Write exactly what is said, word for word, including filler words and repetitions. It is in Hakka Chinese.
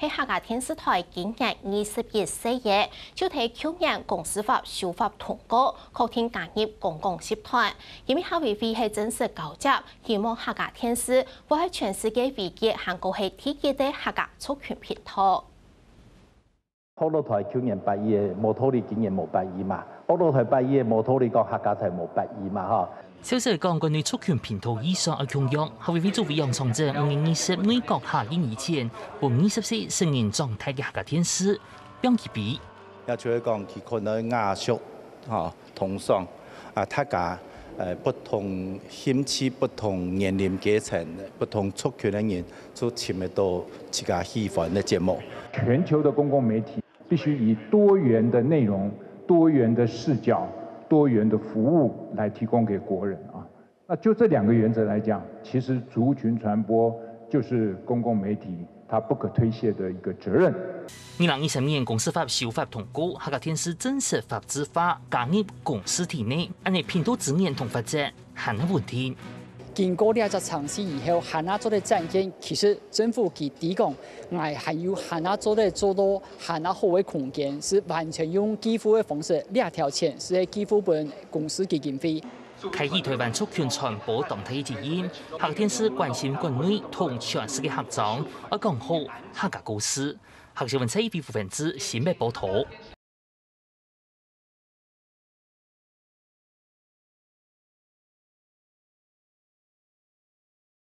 係客家電視台今年二十一歲个，就在舊年公司法修法通過，確定加入公共集團。因為客委會係正式交接，希望客家電視會係全世界唯一還過係第一个客家族群頻道。 學老台舊年八一个，無道理今年無八一嘛。學老台八一个，無道理講客家台無八一嘛，吼。消息講，國內族群頻道意向愛共樣，客委會主委楊長政五月二十內閣下令以前，分二十四歲成人長大个客家電視，放佢比。也就係講，佢可能雅俗，吼，同上，啊，大家，呃，不同興趣、不同年齡階層、不同族群个人，就尋得到自家喜歡个節目。全球的公共媒體必須以多元的內容、多元的视角、多元的服务來提供給國人啊。那就這兩個原則來講，其實族群傳播就是公共媒體它不可推卸的一個責任。二零二三年公司法修法通過，客家電視正式法制化，加入公司體內，恁呢頻道資源同發展還係問題。經過這隻程序以後，還係做得展現，其實政府佢知講，𠊎還有還係做得做到還係好个空間，係完全用支付个方式，這條錢係支付分公司基金會。 開啟台灣族群傳播當大个責任，客家電視關心國內同全世界客庄，愛講好客家故事。客家新聞蔡一菲、傅文志新北報導。